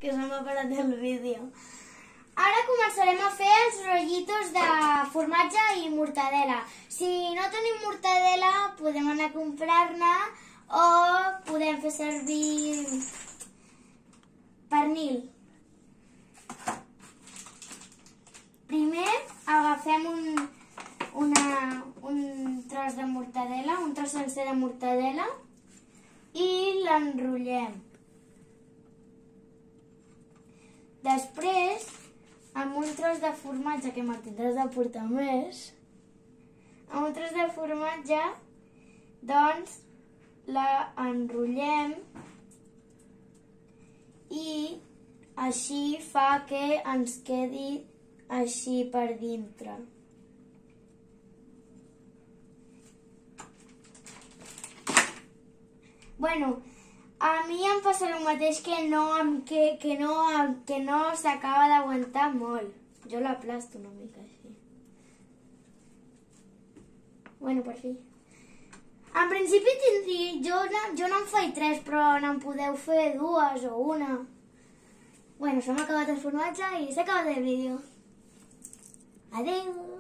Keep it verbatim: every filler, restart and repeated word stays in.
que se m'ha parat el vídeo. Ara començarem a fer els rotllitos de formatge i mortadela. Si no tenim mortadela, podem anar a comprar-ne o podem fer servir pernil. Primer agafem un, una, un tros de mortadela, un tros sencer de mortadela i l'enrotllem. Després, amb un tros de formatge, que me'n tindràs de portar més, amb un tros de formatge, doncs, la enrotllem i així fa que ens quedi així per dintre. Bueno, a mi em passa el mateix que no, que, que no, que no s'acaba d'aguantar molt. Jo l'aplasto una mica així. Bueno, per fi. En principi tindria, jo, jo no en faig tres, però n'en podeu fer dues o una. Bueno, s'ha acabat el formatge i s'ha acabat el vídeo. Adéu!